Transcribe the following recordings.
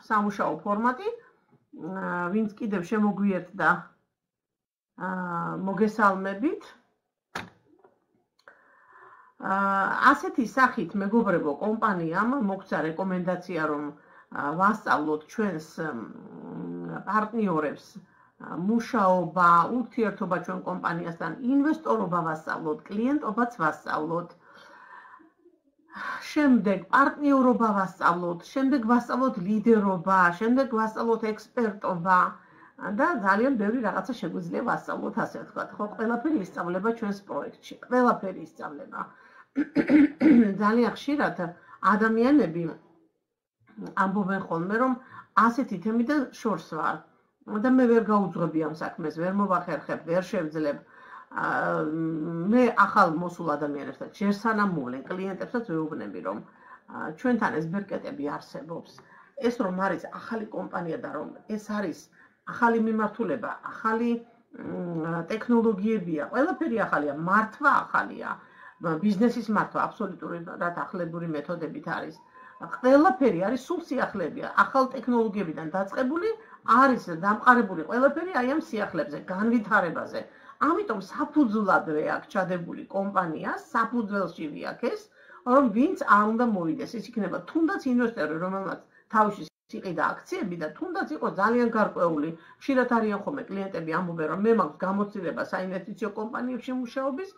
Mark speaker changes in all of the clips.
Speaker 1: სამუშაო ფორმატი, ვინც კიდევ შემოგვიერთდა მოგესალმებით. ასეთი სახით მეგობრებო კომპანიამ მოგცა რეკომენდაცია რომ ვასწავლოთ ჩვენს პარტნიორებს მუშაობა, ურთიერთობა ჩვენ კომპანიასთან, ინვესტორობა ვასწავლოთ, კლიენტობაც ვასწავლოთ. შემდეგ პარტნიორობა ვასწავლოთ, შემდეგ ვასწავლოთ ლიდერობა, შემდეგ ვასწავლოთ ექსპერტობა და ძალიან ბევრი რაღაცა შეგვიძლია ვასწავლოთ, ასე ვთქვათ, ხო, ყველაფერი ისწავლება ჩვენს პროექტში, ყველაფერი ისწავლება. ძალიან ხშირად ადამიანები ამბობენ ხოლმე, რომ ასეთი თემიდან შორს ვარ და მე ვერ გაუძღვები ამ საქმეს, ვერ მოვახერხებ, ვერ შევძლებ. მე ახალ მოსულ ადამიანებსაც ჯერ სანამ მოვლენ კლიენტებსაც ვეუბნები რომ ჩვენთან ეს ბერკეტები არსებობს. ეს რომ არის ახალი კომპანია და რომ ეს არის ახალი მიმართულება, ახალი ტექნოლოგიებია, ყველაფერი ახალია, მართვა ახალია, ბიზნესის მართვა აბსოლუტურად ახლებური მეთოდებით არის. ყველაფერი არის სულ სიახლეებია, ახალ ტექნოლოგიებიდან დაწყებული არის დამყარებული ყველაფერი აი ამ სიახლეებზე, განვითარებაზე. ამიტომ საფუძვლადვე აქ ჩადებული კომპანია, საფუძველში ვიაქეს, რომ ვინც არ უნდა მოვიდეს, ის იქნება თუნდაც ინვესტორი, რომელმაც თავში იყიდა აქციები და თუნდაც იყო ძალიან გარკვეული. ხშირად არიან ხოლმე კლიენტები ამბობენ, რომ მე მაქვს გამოცდილება საინვესტიციო კომპანიებში მუშაობის,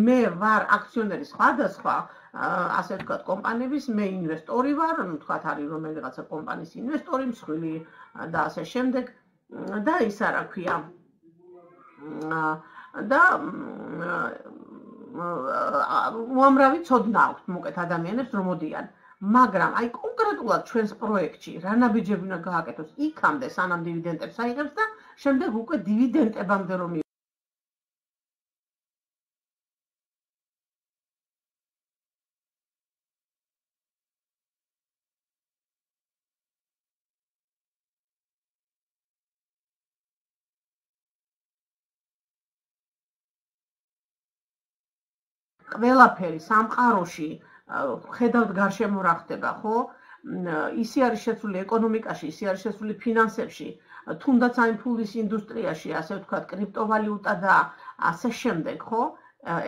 Speaker 1: მე ვარ აქციონერი სხვადასხვა, ასე ვთქვათ, კომპანიების, მე ინვესტორი ვარ, ვთქვათ, არის რომელიღაცა კომპანიის ინვესტორი, მსხვილი და ასე შემდეგ და ის არა ქვია. და უამრავი ცოდნა აქვს მოკეთ ადამიანებს რომ მოდიან, მაგრამ აი კონკრეტულად ჩვენს პროექტში რა ნაბიჯები უნდა გააკეთოს იქამდე სანამ დივიდენდებს აიღებს და შემდეგ უკვე დივიდენდებამდე რომ ყველაფერი სამყაროში ხედავთ გარშემო რა ხდება, ხო? ისი არის შეცვლილი ეკონომიკაში, ისი არის შეცვლილი ფინანსებში, თუნდაც აი ფულის ინდუსტრიაში, ასე ვთქვათ, კრიპტოვალუტა და ასე შემდეგ, ხო?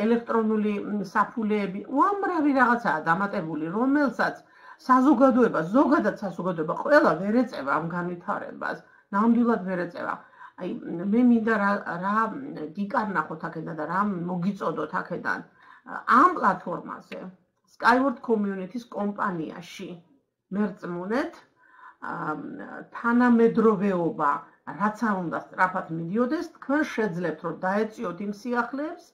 Speaker 1: ელექტრონული საფულეები, უამრავი რაღაცაა დამატებული, რომელსაც საზოგადოება, ზოგადად საზოგადოება ყველა ვერ ეწევა ამ განვითარებას, ნამდვილად ვერ ეწევა. აი მე მინდა რა გიკარნახოთ აქედან და რა მოგიწოდოთ აქედან. ამ პლატფორმაზე, Skyward Community-ს კომპანიაში მერწმუნეთ, თანამედროვეობა, რაც არ უნდა სწრაფად მიდიოდეს, თქვენ შეძლებთ, რომ დაეწიოთ იმ სიახლეებს,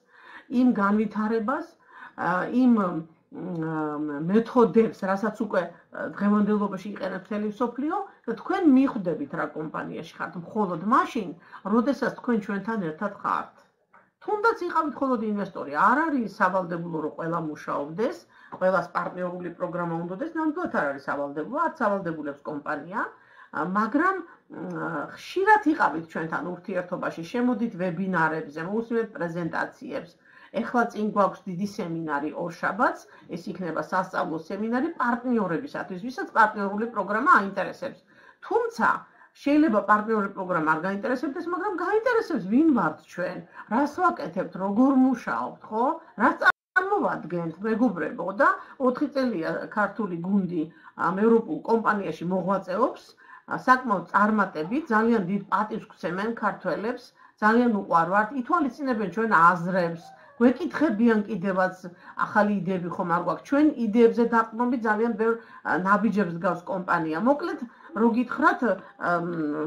Speaker 1: იმ განვითარებას, იმ მეთოდებს, რასაც უკვე დღევანდელობაში იყენებს მთელი მსოფლიო და თქვენ მიხვდებით რა კომპანიაში ხართ, მხოლოდ მაშინ, როდესაც თქვენ ჩვენთან ერთად ხართ. თუნდაც იყავით მხოლოდ ინვესტორი, არ არის სავალდებულო რომ ყველა მუშაობდეს, ყველას პარტნიორული პროგრამა უნდადეს, ნამდვილად არ არის სავალდებულო, არც სავალდებულებს კომპანია, მაგრამ ხშირად იყავით ჩვენთან ურთიერთობაში, შემოდით ვებინარებზე, მოусმინეთ პრეზენტაციებს. ეხლა წინ გვაქვს დიდი სემინარი ორშაბათს, ეს იქნება სასწავლო სემინარი პარტნიორებისათვის, ვისაც პარტნიორული პროგრამა აინტერესებს. თუმცა შეიძლება პარტნიორული პროგრამა არ გაინტერესებდეს, მაგრამ გაინტერესებს ვინ ვართ ჩვენ, რას ვაკეთებთ, როგორ მუშაობთ, ხო? რას წარმოვადგენთ, მეგობრებო და 4 წელია ქართული გუნდი ევროპულ კომპანიაში მოღვაწეობს, საკმაოდ წარმატებით, ძალიან დიდ პატივს გვცემენ ქართველებს, ძალიან უყვარვართ, ითვალისწინებენ ჩვენ აზრებს, გვეკითხებიან კიდევაც ახალი იდეები ხომ არ გვაქვს, ჩვენ იდეებზე დაყრდნობით ძალიან ბევრ ნაბიჯებს გავს კომპანია. მოკლედ რო გითხრათ,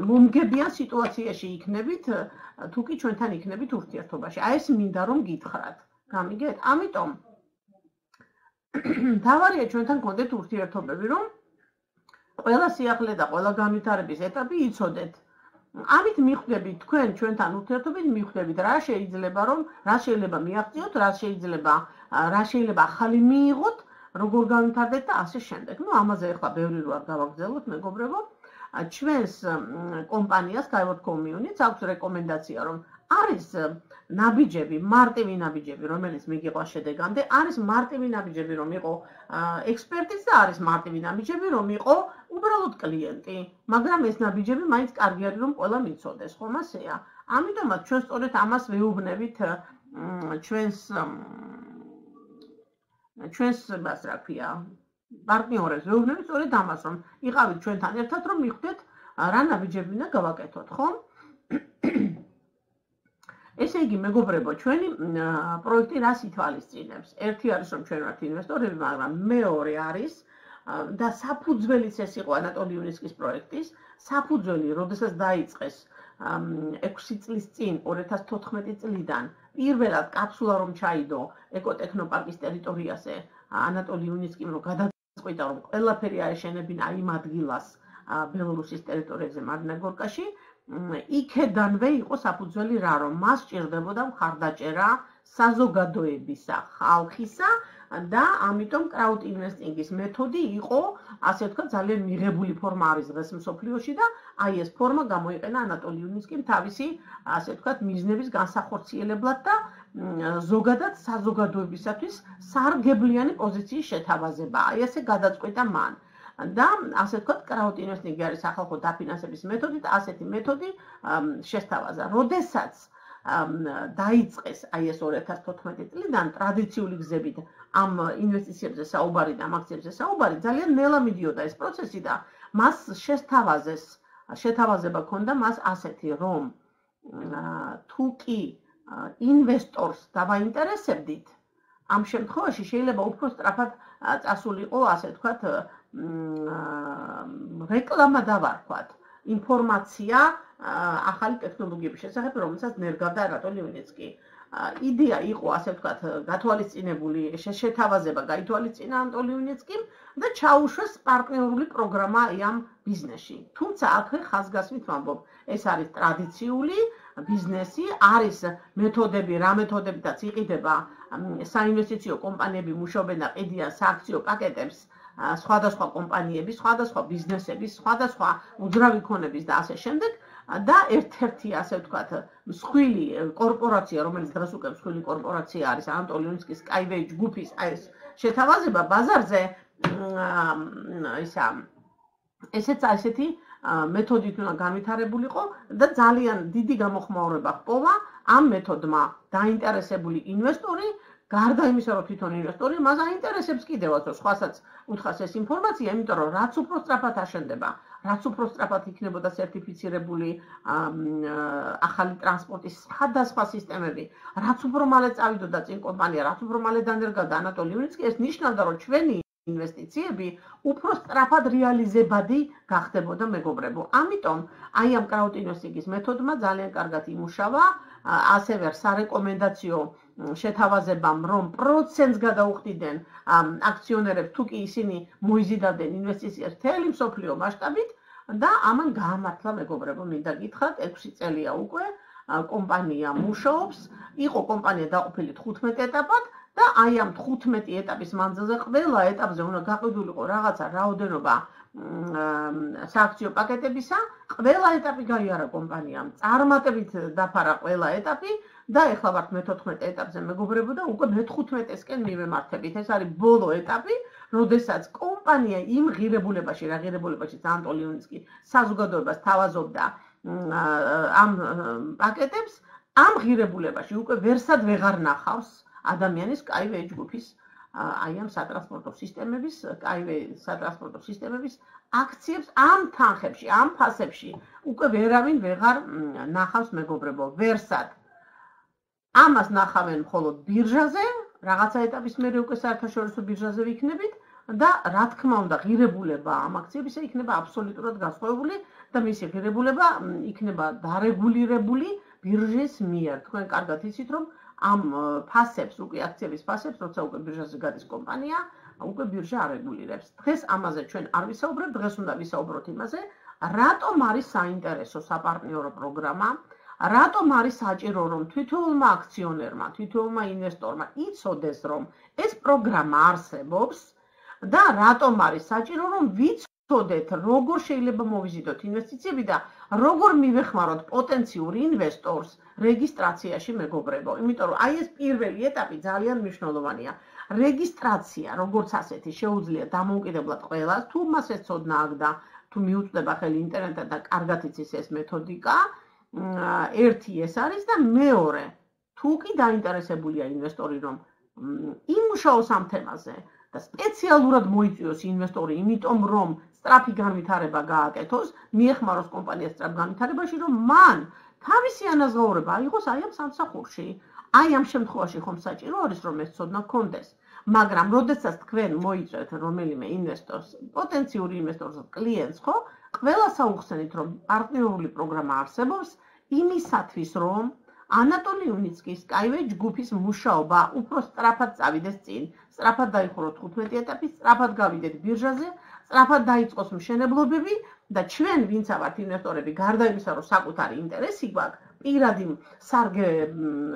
Speaker 1: მომგებიან სიტუაციაში იქნებით, თუ კი ჩვენთან იქნებით ურთიერთობაში. აი ეს მინდა რომ გითხრათ. გამიგეთ? ამიტომ თავარია ჩვენთან გქონდეთ ურთიერთობები, რომ ყველა სიახლე და ყველა განვითარების ეტაპი იცოდეთ. ამით მიხვდებით თქვენ ჩვენთან ურთიერთობით მიხვდებით რა შეიძლება მიაღწიოთ, რა შეიძლება ახალი მიიღოთ, როგორ განვითარდეთ და ასე შემდეგ. ნუ ამაზე ახლა ბევრი რო არ გავაგრძელოთ, მეგობრებო. ჩვენს კომპანიას Skyward Community-ს აქვს რეკომენდაცია, რომ არის ნაბიჯები, მარტივი ნაბიჯები, რომელიც მიგიყვა შედეგამდე, არის მარტივი ნაბიჯები, რომ იყო ექსპერტიც და არის მარტივი ნაბიჯები, რომ იყო უბრალოდ კლიენტი, მაგრამ ეს ნაბიჯები მაინც კარგი არის, რომ ყველა მიცოდეს, ხომ ასეა? ამიტომაც ჩვენ სწორედ ამას ვეუბნებით ჩვენს მას რა ქვია, პარტნიორებს ვეუბნებით სწორედ ამას, რომ იყავით ჩვენთან ერთად, რომ მიხვდეთ რა ნაბიჯები უნდა გავაკეთოთ, ხომ? ესე იგი, მეგობრებო, ჩვენი პროექტი რას ითვალისწინებს? ერთი არის, რომ ჩვენ ვართ ინვესტორები, მაგრამ მეორე არის და საფუძველიც ეს იყო ანატოლი იუნისკის პროექტის, საფუძველი, როდესაც დაიწყეს 6 წლის წინ 2014 წლიდან პირველად კაფსულა რომ ჩაიდო ეკოტექნოპარკის ტერიტორიაზე ანატოლი იუნისკიმ რომ გადაწყვიტა რომ ყველაფერი აეშენებინა იმ ადგილას ბელორუსის ტერიტორიაზე მარინაგორკაში იქედანვე იყო საფუძველი რა რომ მას სჭირდებოდა მხარდაჭერა საზოგადოებისა, ხალხისა და ამიტომ crowd investing-ის მეთოდი იყო, ასე ვთქვათ, ძალიან მიღებული ფორმა არის დღეს მსოფლიოში და აი ეს ფორმა გამოიყენა ანატოლი იუნისკიმ თავისი, ასე ვთქვათ, მიზნების განსახორციელებლად და ზოგადად საზოგადოებისათვის სარგებლიანი პოზიციის შეთავაზება. აი ესე გადაწყვიტა მან. და ასე ვთქვათ, crowd investing არის სახალხო დაფინანსების მეთოდი და ასეთი მეთოდი შესთავაზა. როდესაც დაიწყეს აი ეს 2014 წლიდან ტრადიციული გზებით ამ ინვესტიციებზე საუბარი და ამ აქციებზე საუბარი, ძალიან ნელა მიდიოდა ეს პროცესი და მას შეთავაზება ჰქონდა მას ასეთი, რომ თუ კი ინვესტორს დავაინტერესებდით, ამ შემთხვევაში შეიძლება უფრო სწრაფად წასულიყო, ასე ვთქვათ, რეკლამა დავარქვათ, ინფორმაცია ახალი ტექნოლოგიების შესახებ, რომელსაც ნერგავდა ანატოლი იუნისკი. იდეა იყო, ასე ვთქვათ, გათვალისწინებული, შეთავაზება გაითვალისწინა ანატოლი იუნისკიმ და ჩაუშვეს პარტნიორული პროგრამა ამ ბიზნესში. თუმცა აქვე ხაზგასმით ვამბობ, ეს არის ტრადიციული ბიზნესი, არის მეთოდები, რა მეთოდებითაც იყიდება საინვესტიციო კომპანიები მუშაობენ და ყიდიან სააქციო პაკეტებს სხვადასხვა კომპანიების, სხვადასხვა ბიზნესების, სხვადასხვა უძრავი ქონების და ასე შემდეგ და ერთ-ერთი, ასე ვთქვათ, მსხვილი კორპორაცია, რომელიც დღეს უკვე მსხვილი კორპორაცია არის ანატოლი იუნისკის Skyway ჯგუფის ეს შეთავაზება ბაზარზე ესეც ასეთი მეთოდით უნდა განვითარებულიყო და ძალიან დიდი გამოხმაურება ჰპოვა ამ მეთოდმა დაინტერესებული ინვესტორი გარდა იმისა, რომ თვითონ ინვესტორი მას აინტერესებს კიდევაც, რომ სხვასაც უთხრას ეს ინფორმაცია, იმიტომ რომ რაც უფრო სწრაფად აშენდება, რაც უფრო სწრაფად იქნებოდა სერტიფიცირებული ახალი ტრანსპორტის სხვადასხვა სისტემები, რაც უფრო მალე წავიდოდა წინ კომპანია, რაც უფრო მალე დანერგავდა ანატოლი იუნისკი, ეს ნიშნავდა, რომ ჩვენი ინვესტიციები უფრო სწრაფად რეალიზებადი გახდებოდა, მეგობრებო. ამიტომ აი ამ crowd investing-ის მეთოდმა ძალიან კარგად იმუშავა, ასევე სარეკომენდაციო შეთავაზებამ, რომ პროცენტს გადაუხდიდნენ აქციონერებს, თუ კი ისინი მოიზიდავდნენ ინვესტიციას მთელი მსოფლიო მასშტაბით და ამან გაამართლა, მეგობრებო, მინდა გითხრათ, 6 წელია უკვე კომპანია მუშაობს, იყო კომპანია დაყოფილი 15 ეტაპად და აი ამ 15 ეტაპის მანძილზე ყველა ეტაპზე უნდა გაყიდულიყო რაღაცა რაოდენობა სააქციო პაკეტებისა, ყველა ეტაპი გაიარა კომპანიამ, წარმატებით დაფარა ყველა ეტაპი და ეხლა ვართ მე-14 ეტაპზე, მეგობრებო, და უკვე მე-15-ესკენ მივემართებით. ეს არის ბოლო ეტაპი, როდესაც კომპანია იმ ღირებულებაში, რა ღირებულებაში ანატოლი იუნისკი საზოგადოებას თავაზობდა ამ პაკეტებს, ამ ღირებულებაში უკვე ვერსად ვეღარ ნახავს ადამიანის Skyway ჯგუფის აი ამ სატრანსპორტო სისტემების აქციებს ამ თანხებში, ამ ფასებში უკვე ვერავინ ვეღარ ნახავს, მეგობრებო, ვერსად. ამას ნახავენ მხოლოდ ბირჟაზე, რაღაცა ეტაპის მერე უკვე საერთაშორისო ბირჟაზე ვიქნებით და რა თქმა უნდა, ღირებულება ამ აქციებისა იქნება აბსოლუტურად განსხვავებული და მისი ღირებულება იქნება დარეგულირებული ბირჟის მიერ. თქვენ კარგად იცით, რომ ამ ფასებს, უკვე აქციების ფასებს, როცა უკვე ბირჟაზე გადის კომპანია, უკვე ბირჟა არეგულირებს. დღეს ამაზე ჩვენ არ ვისაუბრებთ, დღეს უნდა ვისაუბროთ იმაზე, რატომ არის საინტერესო საპარტნიორო პროგრამა, რატომ არის საჭირო, რომ თითოეულმა აქციონერმა, თითოეულმა ინვესტორმა იცოდეს, რომ ეს პროგრამა არსებობს და რატომ არის საჭირო, რომ ვთოდეთ, როგორ შეიძლება მოვიზიდოთ ინვესტიციები და როგორ მივეხმაროთ პოტენციურ ინვესტორს რეგისტრაციაში, მეგობრებო. იმიტომ რომ აი ეს პირველი ეტაპი ძალიან მნიშვნელოვანია. რეგისტრაცია, როგორც ასეთი, შეუძლია დამოუკიდებლად ყველას, თუ მას ეცოდნა აქ და თუ მიუწვდება ხელი ინტერნეტად და კარგად იცის ეს მეთოდიკა, ერთი ეს არის და მეორე, თუ კი დაინტერესებულია ინვესტორი, რომ იმუშაოს ამ თემაზე და სპეციალურად მოიწვიოს ინვესტორი, იმიტომ რომ სწრაფი განვითარება გააკეთოს, მიეხმაროს კომპანიას სწრაფ განვითარებაში, რომ მან თავისი ანაზღაურება აიღოს აი ამ სამსახურში. აი ამ შემთხვევაში ხომ საჭირო არის, რომ ეს ცოდნა გქონდეს. მაგრამ როდესაც თქვენ მოიწვევთ რომელიმე ინვესტორს, პოტენციური ინვესტორს, კლიენტს, ხო, ყველას აუხსენით, რომ პარტნიორული პროგრამა არსებობს იმისათვის, რომ ანატოლი უნიცკის SkyWay ჯგუფის მუშაობა უფრო სწრაფად წავიდეს წინ, სწრაფად დაიხუროთ 15 ეტაპი, სწრაფად გავიდეთ ბირჟაზე, სწრაფად დაიწყოს მშენებლობები და ჩვენ, ვინც ვართ ინვესტორები, გარდა იმისა, რომ საკუთარი ინტერესი გვაქვს, პირადი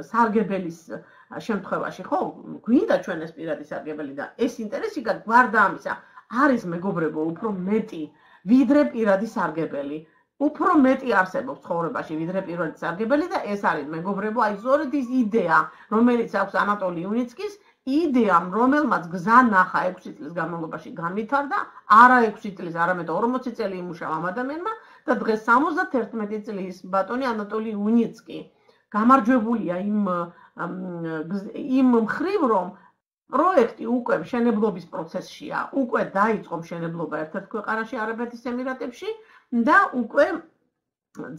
Speaker 1: სარგებელის შემთხვევაში, ხო, გვინდა ჩვენ ეს პირადი სარგებელი და ეს ინტერესი გარდა ამისა არის მეგობრებო უფრო მეტი, ვიდრე პირადი სარგებელი. უფრო მეტი არსებობს ცხოვრებაში, ვიდრე პირადი სარგებელი და ეს არის მეგობრებო, აი ზორედ ის იდეა, რომელიც აქვს ანატოლი უნიცკის, იდეამ, რომელმაც გზა ნახა 6 წლის განმავლობაში განვითარდა, არა 6 წლის, არამედ 40 წელი იმუშავა ამ ადამიანმა და დღეს 71 წლის ბატონი ანატოლი უნიცკი გამარჯვებულია იმ მხრივ, რომ პროექტი უკვე მშენებლობის პროცესშია, უკვე დაიწყო მშენებლობა ერთ-ერთ ქვეყანაში, არაბეთის ემირატებში და უკვე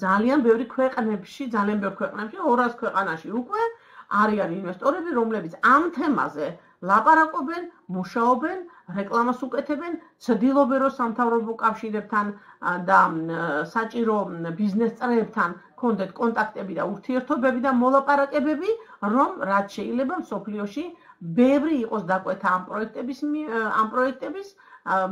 Speaker 1: ძალიან ბევრი ქვეყნებში, 200 ქვეყანაში უკვე არიან ინვესტორები, რომლებიც ამ თემაზე ლაპარაკობენ, მუშაობენ, რეკლამას უკეთებენ, ცდილობენ, რომ სამთავრობო კავშირებთან და საჭირო ბიზნეს წრეებთან კონდეთ კონტაქტები და ურთიერთობები და მოლაპარაკებები, რომ რაც შეიძლება მსოფლიოში ბევრი იყოს დაკვეთა ამ პროექტების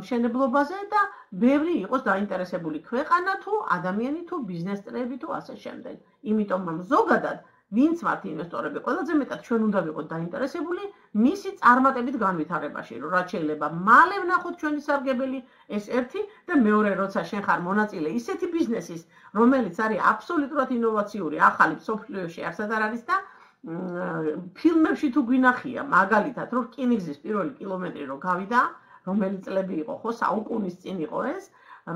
Speaker 1: მშენებლობაზე და ბევრი იყოს დაინტერესებული ქვეყანა თუ ადამიანი თუ ბიზნეს წრეები თუ ასე შემდეგ. იმიტომ რომ ზოგადად ვინც ვართ ინვესტორები, ყველაზე მეტად ჩვენ უნდა ვიყოთ დაინტერესებული მისი წარმატებით განვითარებაში, რომ რაც შეიძლება მალე ვნახოთ ჩვენი სარგებელი, ეს ერთი და მეორე, როცა შენ ხარ მონაწილე ისეთი ბიზნესის, რომელიც არის აბსოლუტურად ინოვაციური, ახალი მსოფლიოში არსად არ არის და ფილმებში თუ გვინახია, მაგალითად, რომ რკინიგზის პირველი კილომეტრი რო გავიდა, რომელი წლები იყო, ხო, საუკუნის წინ იყო ეს,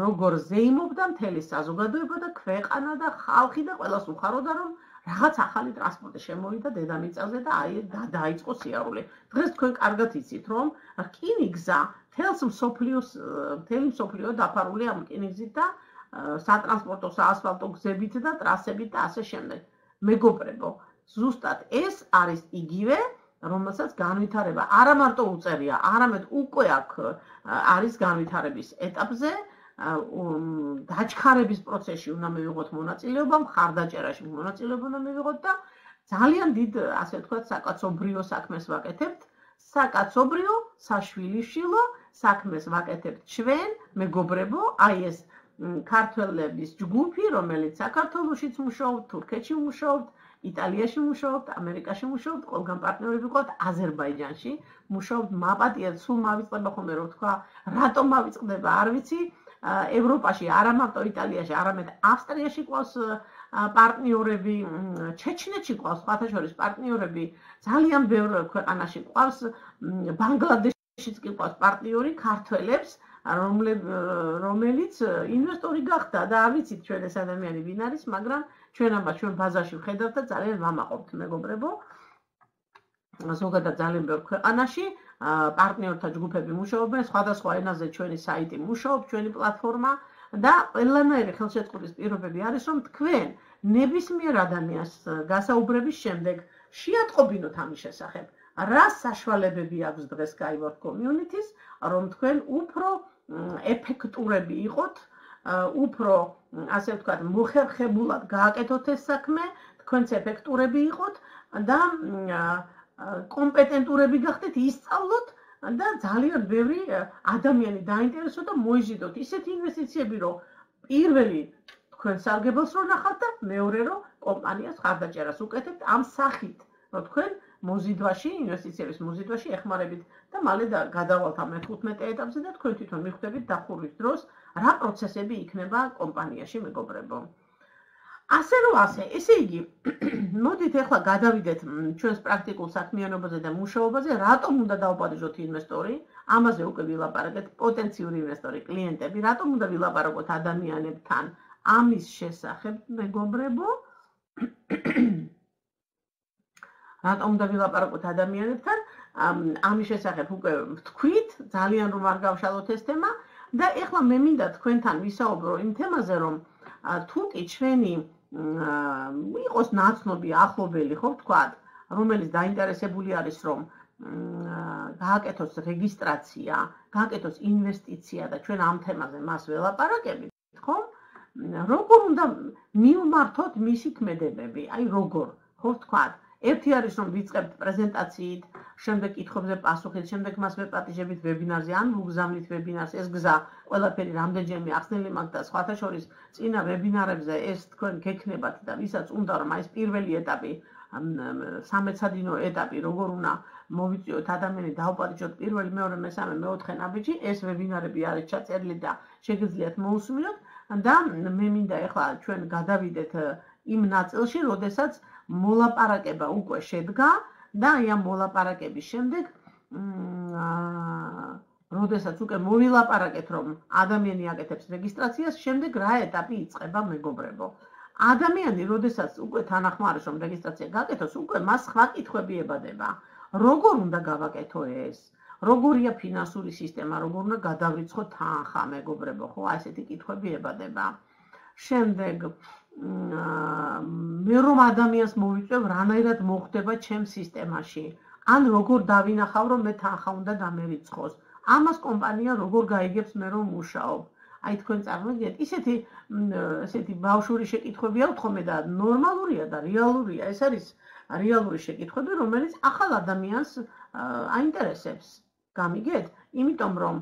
Speaker 1: როგორ ზეიმობდა მთელი საზოგადოება და ქვეყანა და ხალხი და ყველას უხაროდა, რომ რაღაც ახალი ტრანსპორტი შემოვიდა დედამიწაზე და აი დაიწყო სიარული. დღეს თქვენ კარგად იცით, რომ რკინიგზა მთელი მსოფლიო დაფარულია ამ რკინიგზით და სატრანსპორტო, საასფალტო გზებით და ტრასებით და ასე შემდეგ. მეგობრებო, ზუსტად ეს არის იგივე, რომელსაც განვითარება არა მარტო უწევია, არამედ უკვე აქ არის განვითარების ეტაპზე, დაჩქარების პროცესში უნდა მივიღოთ მონაწილეობა, მხარდაჭერაში მონაწილეობა უნდა მივიღოთ და ძალიან დიდ, ასე ვთქვათ, საკაცობრიო საქმეს ვაკეთებთ, საკაცობრიო, საშვილიშვილო საქმეს ვაკეთებთ ჩვენ, მეგობრებო, აი ეს ქართველების ჯგუფი, რომელიც საქართველოშიც მუშაობთ, თურქეთში მუშაობთ, იტალიაში მუშაობთ, ამერიკაში მუშაობთ, ყველგან პარტნიორები ვიყავთ, აზერბაიჯანში მუშაობთ, მაპატიეთ, სულ მავიწყდება ხოლმე რომ თქვა, რატომ მავიწყდება, არ ვიცი, ევროპაში, არა მარტო იტალიაში, არამედ ავსტრიაში ყავს პარტნიორები, ჩეჩნეთში ყავს სხვათა შორის პარტნიორები, ძალიან ბევრ ქვეყანაში ყავს, ბანგლადეშიც კი ყავს პარტნიორი ქართველებს, რომელიც ინვესტორი გახდა და არ ვიცით ჩვენ ეს ადამიანი ვინ არის, მაგრამ ჩვენ ამას ჩვენ ბაზაში ვხედავთ და ძალიან ვამაყობთ, მეგობრებო. ზოგადად ძალიან ბევრ ქვეყანაში პარტნიორთა ჯგუფები მუშაობენ, სხვადასხვა ენაზე ჩვენი საიტი მუშაობს, ჩვენი პლატფორმა და ყველანაირი ხელშეწყობის პირობები არის, რომ თქვენ ნებისმიერ ადამიანს გასაუბრების შემდეგ შეატყობინოთ ამის შესახებ. რა საშუალებები აქვს დღეს SkyWay Community-ს, რომ თქვენ უფრო ეფექტურები იყოთ, უფრო, ასე ვთქვათ, მოხერხებულად გააკეთოთ ეს საქმე, თქვენც ეფექტურები იყოთ და კომპეტენტურები გახდეთ, ისწავლოთ და ძალიან ბევრი ადამიანი დაინტერესოთ და მოიზიდოთ ისეთი ინვესტიციები, რომ პირველი თქვენ სარგებელს რო ნახავთ და მეორე რომ კომპანიას ხარდაჭერას უკეთებთ ამ სახით, რომ თქვენ მოზიდვაში, ინვესტიციების მოზიდვაში ეხმარებით და მალე გადავალთ ამ 15 ეტაპზე და თქვენ თვითონ მიხვდებით დახურვის დროს რა პროცესები იქნება კომპანიაში, მეგობრებო. ასე რომ ასე, ესე იგი, მოდით ახლა გადავიდეთ ჩვენს პრაქტიკულ საქმიანობაზე და მუშაობაზე, რატომ უნდა დავაპატიჟოთ ინვესტორი? ამაზე უკვე ვილაპარაკეთ, პოტენციური ინვესტორი, კლიენტები, რატომ უნდა ვილაპარაკოთ ადამიანებთან ამის შესახებ, მეგობრებო? რატომ უნდა ვილაპარაკოთ ადამიანებთან? ამის შესახებ უკვე ვთქვით, ძალიან რომ არ გავშალოთ ეს თემა და ეხლა მე მინდა თქვენთან ვისაუბრო იმ თემაზე, რომ თუ კი ჩვენი იყოს ნაცნობი ახლობელი, ხო ვთქვათ, რომელიც დაინტერესებული არის, რომ გააკეთოს რეგისტრაცია, გააკეთოს ინვესტიცია და ჩვენ ამ თემაზე მას ველაპარაკებით, ხო? როგორ უნდა მივმართოთ მისი ქმედებები, აი როგორ, ხო ვთქვათ, ერთი არის რომ ვიწყებთ პრეზენტაციით, შემდეგ კითხვებზე პასუხით, შემდეგ მას ვეპატიჟებით ვებინარზე, ან ვუგზავნით ვებინარს, ეს გზა ყველაფერი რამდენჯერმე ახსნილი მაქვს და სხვათა შორის წინა ვებინარებზე ეს თქვენ გექნებათ და ვისაც უნდა რომ აი ეს პირველი ეტაპი, სამეცადინო ეტაპი, როგორ უნდა მოვიწვიოთ ადამიანი, დავაპატიჟოთ პირველი, მეორე, მესამე, მეოთხე ნაბიჯი, ეს ვებინარები არის ჩაწერილი და შეგიძლიათ მოусმინოთ და მე მინდა ახლა ჩვენ გადავიდეთ იმ ნაწილში, როდესაც მოლაპარაკება უკვე შედგა და აი ამ მოლაპარაკების შემდეგ როდესაც უკვე მოვილაპარაკეთ რომ ადამიანი აკეთებს რეგისტრაციას, შემდეგ რა ეტაპი იწყება, მეგობრებო? ადამიანი როდესაც უკვე თანახმარობს რომ რეგისტრაცია გააკეთოს, უკვე მას სხვა კითხვები ებადება. როგორ უნდა გავაკეთო ეს? როგორია ფინანსური სისტემა, როგორ უნდა გადავრიცხო თანხა, მეგობრებო, ხო, ასეთი კითხვები ებადება. შემდეგ მე რომ ადამიანს მოვიწევ, რანაირად მოხდება ჩემს სისტემაში, ან როგორ დავინახავ, რომ მე თანხა უნდა დამერიცხოს. ამას კომპანია როგორ გაიგებს მე რომ მუშაობ. აი თქვენ წარმოგიდგენთ, ესეთი ბავშვური შეკითხვებია უთხოვე და ნორმალურია და რეალურია. ეს არის რეალური შეკითხვები, რომელიც ახალ ადამიანს აინტერესებს. გამიგეთ? იმიტომ რომ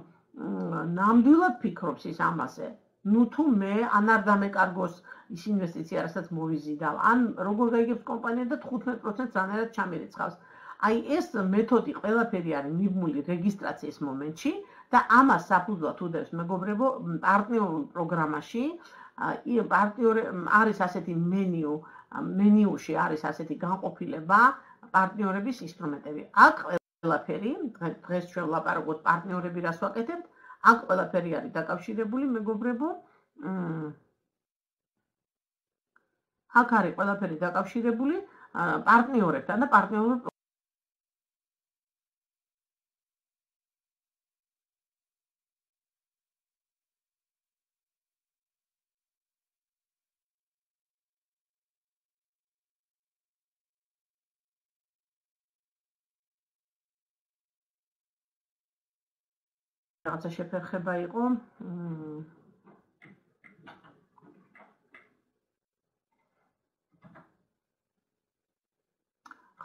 Speaker 1: ნამდვილად ფიქრობს ის ამაზე. ნუ თუ მე ან არ დამეკარგოს ის ინვესტიცია, რასაც მოვიზიდავ, ან როგორ გაიგებს კომპანია და 15% რანაირად ჩამერიცხავს. აი ეს მეთოდი ყველაფერი არის მიბმული რეგისტრაციის მომენტში და ამას საფუძვლად უდევს, მეგობრებო, პარტნიორულ პროგრამაში. პარტნიორი არის ასეთი მენიუში არის ასეთი განყოფილება პარტნიორების ინსტრუმენტები. აქ ყველაფერი, დღეს ჩვენ ვლაპარაკობთ პარტნიორები რას ვაკეთებთ, აქ ყველაფერი არის დაკავშირებული, მეგობრებო. აქ არის ყველაფერი დაკავშირებული პარტნიორებთან და პარტნიორულ რაღაცა შეფერხება იყო.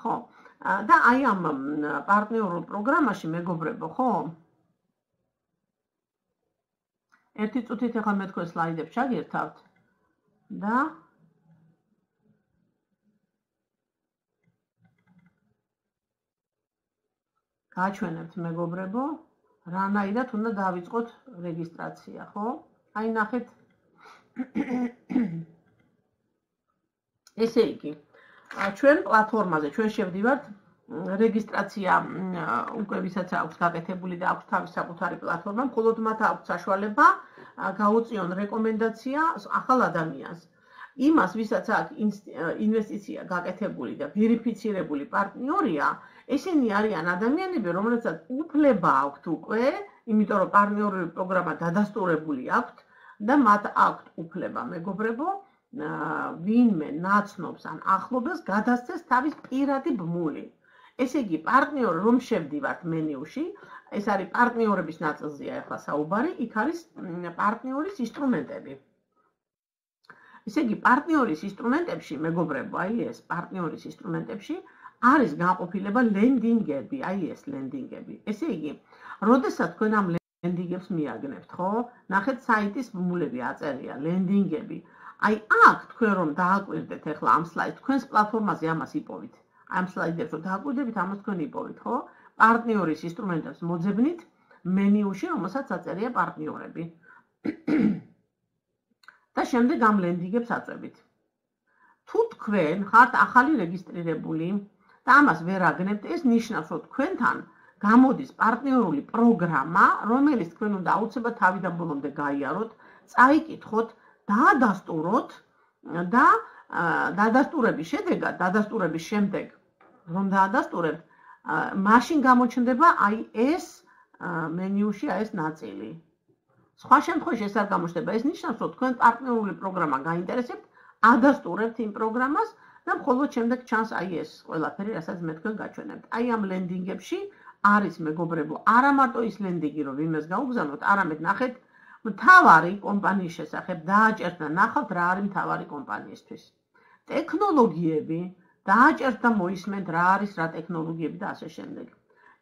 Speaker 1: ხო, და აი ამ პარტნიორულ პროგრამაში, მეგობრებო, ხო? ერთი წუთით ახლა მე თქვენ სლაიდებს ჩაგერთავთ და გაჩვენებთ, მეგობრებო, რანაირად უნდა დავიწყოთ რეგისტრაცია, ხო? აი ნახეთ. ესე იგი, ჩვენ პლატფორმაზე ჩვენ შევდივართ რეგისტრაცია უკვე ვისაც აქვს გაკეთებული და აქვს თავის საკუთარი პლატფორმა, მხოლოდ მათ აქვს საშუალება გაუწიონ რეკომენდაცია ახალ ადამიანს. იმას, ვისაც აქვს ინვესტიცია გაკეთებული და ვერიფიცირებული პარტნიორია, ესენი არიან ადამიანები, რომლებსაც უფლება აქვთ უკვე, იმიტომ რომ პარტნიორული პროგრამა დადასტურებული აქვთ და მათ აქვთ უფლება, მეგობრებო, ვინმე ნაცნობს ან ახლობელს გადასცეს თავის პირადი ბმული. ესე იგი, პარტნიორი რომ შევდივართ მენიუში, ეს არის პარტნიორების ნაწილზეა ახლა საუბარი, იქ არის პარტნიორის ინსტრუმენტები. ესე იგი, პარტნიორის ინსტრუმენტებში, მეგობრებო, აი ეს პარტნიორის ინსტრუმენტებში არის განყოფილება ლენდინგები, აი ეს ლენდინგები. ესე იგი, როდესაც თქვენ ამ ლენდინგებს მიაგნებთ, ხო? ნახეთ საიტის ბმულები აწერია, ლენდინგები. აი აქ თქვენ რომ დააკვირდეთ ახლა ამ სლაიდს, თქვენს პლატფორმაზე ამას იპოვით. ამ სლაიდებს რო დააკვირდებით, ამას თქვენ იპოვეთ, ხო? პარტნიორის ინსტრუმენტებს მოძებნით მენიუში, რომელსაც აწერია პარტნიორები. და შემდეგ ამ ლენდინგებს აწვევით. თუ თქვენ ხართ ახალი რეგისტრირებული და ამას ვერ აგნებთ, ეს ნიშნავს, რომ თქვენთან გამოდის პარტნიორული პროგრამა, რომელიც თქვენ უნდა აუცილებლად თავიდან ბოლომდე გაიაროთ, წაიკითხოთ, დაადასტუროთ და დადასტურების შედეგად, დადასტურების შემდეგ, რომ დაადასტურებთ, მაშინ გამოჩნდება აი ეს მენიუში აი ეს ნაწილი. სხვა შემთხვევაში ეს არ გამოჩნდება. ეს ნიშნავს, რომ თქვენ პარტნიორული პროგრამა გაინტერესებთ, ადასტურებთ იმ პროგრამას და მხოლოდ შემდეგ ჩანს აი ეს ყველაფერი, რასაც მე თქვენ გაჩვენებთ. აი ამ ლენდინგებში არის მეგობრებო, არა მარტო ის ლენდინგი, რომ ვინმეს გაუგზავნოთ, არამედ ნახეთ მთავარი კომპანიის შესახებ, დააჭერთ და ნახავთ რა არის მთავარი კომპანიისთვის. ტექნოლოგიები, დააჭერთ და მოისმენთ რა არის რა ტექნოლოგიები და ასე შემდეგ.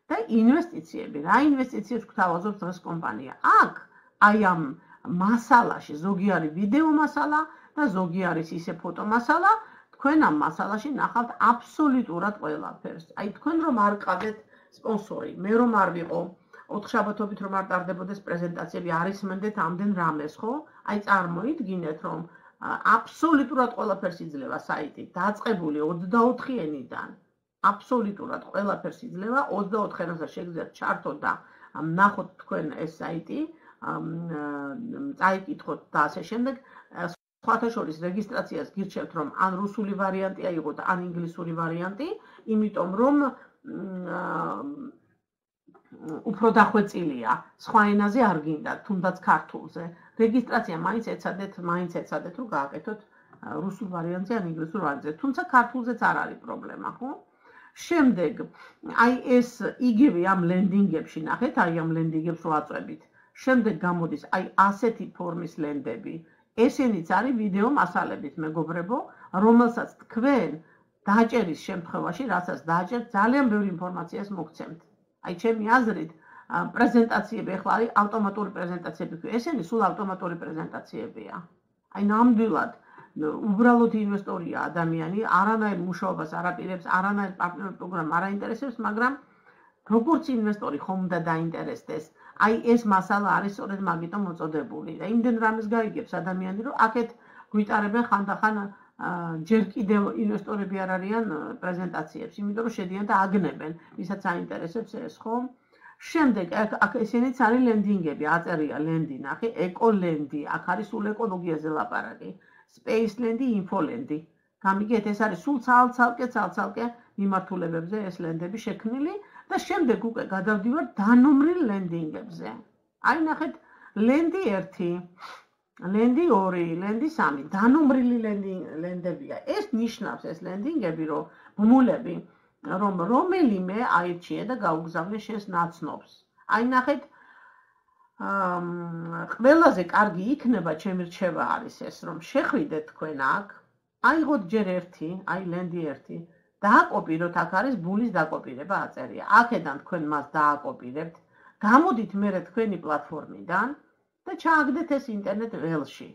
Speaker 1: და ინვესტიციები, რა ინვესტიციებს გვთავაზობს დღეს კომპანია. აქ აი ამ მასალაში ზოგი არის ვიდეო მასალა და ზოგი არის ისე ფოტო მასალა, თქვენ ამ მასალაში ნახავთ აბსოლუტურად ყველაფერს. აი თქვენ რომ არ ყავდეთ სპონსორი, მე რომ არ ვიყო, 4 შაბათობით რომ არ ტარდებოდეს პრეზენტაციები, არ ისმენდეთ ამდენ რამეს, ხო? აი წარმოიდგინეთ, რომ აბსოლუტურად ყველაფერს იძლევა საიტი, დაწყებული 24 ენიდან. აბსოლუტურად ყველაფერს იძლევა, 24 ენაზე შეგიძლიათ ჩართოთ და ნახოთ თქვენ ეს საიტი, წაიკითხოთ და ასე შემდეგ. სხვათა შორის რეგისტრაციას გირჩევთ, რომ ან რუსული ვარიანტი აიღოთ, ან ინგლისური ვარიანტი, იმიტომ რომ უფრო დახვეწილია, სხვა ენაზე არ გინდა, თუნდაც ქართულზე. რეგისტრაცია მაინც ეცადეთ, რომ გააკეთოთ რუსულ ვარიანტზე ან ინგლისურ ვარიანტზე, თუმცა ქართულზეც არ არის პრობლემა, ხო? შემდეგ, აი ეს იგივე ამ ლენდინგებში ნახეთ, აი ამ ლენდინგებს რო აწვევით. შემდეგ გამოდის აი ასეთი ფორმის ლენდები. ესენიც არის ვიდეო მასალებით, მეგობრებო, რომელსაც თქვენ დაჭერის შემთხვევაში, რასაც დაჭერთ, ძალიან ბევრი ინფორმაციას მოგცემთ. აი ჩემი აზრით, პრეზენტაციები ახლა არის ავტომატური პრეზენტაციები, ესენი სულ ავტომატური პრეზენტაციებია. აი ნამდვილად უბრალოდ ინვესტორია ადამიანი, არანაირ მუშაობას არ აპირებს, არანაირ პარტნიორ პროგრამას არ აინტერესებს, მაგრამ როგორც ინვესტორი ხომ უნდა დაინტერესდეს. აი ეს მასალა არის სწორედ მაგიტომ მოწოდებული და იმდენ რამეს გაიგებს ადამიანი, რომ აქეთ გვიტარებენ ხანდახან ჯერ კიდევ ინვესტორები არ არიან პრეზენტაციებს, იმიტომ რომ შედიან და აგნებენ, ვისაც აინტერესებს ეს, ხო? შემდეგ აქ ესენიც არის ლენდინგები, აწერია ლენდი, ნახე, ეკოლენდი, აქ არის სულ ეკოლოგიაზე ლაპარაკი, სპეისლენდი, ინფოლენდი. გამიგეთ, ეს არის სულ ცალ-ცალკე მიმართულებებზე ეს ლენდები შექმნილი და შემდეგ უკვე გადავდივართ დანომრილ ლენდინგებზე. აი ნახეთ, ლენდი 1, ლენდი 2, ლენდი 3, დანომრილი ლენდებია. ეს ნიშნავს ეს ლენდინგები, რომ ბმულები, რომ რომელიმე აირჩიე და გაუგზავნე შენს ნაცნობს. აი ნახეთ, ყველაზე კარგი იქნება, ჩემი რჩევა არის ეს, რომ შეხვიდეთ თქვენ აქ, აიღოთ ჯერ 1, აი ლენდი 1, დააკოპიროთ, აქ არის ბულის დაკოპირება აწერია. აქედან თქვენ მას დააკოპირებთ, გამოდით მერე თქვენი პლატფორმიდან და ჩააგდეთ ეს ინტერნეტ ველში.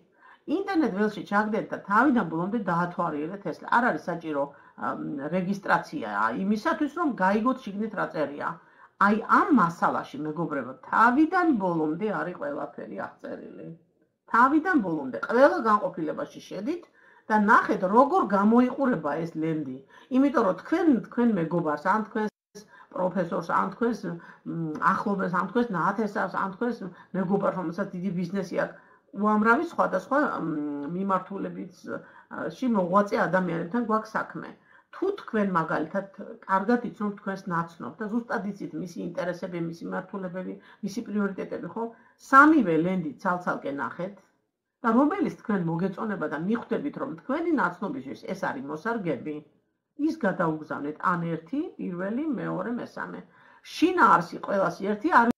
Speaker 1: ინტერნეტ ველში ჩააგდეთ და თავიდან ბოლომდე დაათვალიერეთ ეს. არ არის საჭირო რეგისტრაცია იმისათვის, რომ გაიგოთ შიგნით რა წერია. აი ამ მასალაში, მეგობრებო, თავიდან ბოლომდე არის ყველაფერი აღწერილი. თავიდან ბოლომდე ყველა განყოფილებაში შედით და ნახეთ, როგორ გამოიყურება ეს ლენდი. იმიტომ რომ თქვენ მეგობარს, ან თქვენს პროფესორს, ან თქვენს ახლობელს, ან თქვენს ნათესავს, ან თქვენს მეგობარს, რომელსაც დიდი ბიზნესი აქვს, უამრავი სხვადასხვა მიმართულებებში მოღვაწე ადამიანებთან გვაქვს საქმე. თუ თქვენ მაგალითად კარგად იცნობთ თქვენს ნაცნობს და ზუსტად იცით მისი ინტერესები, მისი მიმართულებები, მისი პრიორიტეტები, ხო? სამივე ლენდი ცალ-ცალკე ნახეთ და რომელიც თქვენ მოგეწონება და მიხვდებით, რომ თქვენი ნაცნობისთვის ეს არის მოსარგები, ის გადაუგზავნეთ ან 1, პირველი, მეორე, მესამე. შინაარსი ყველას 1 არ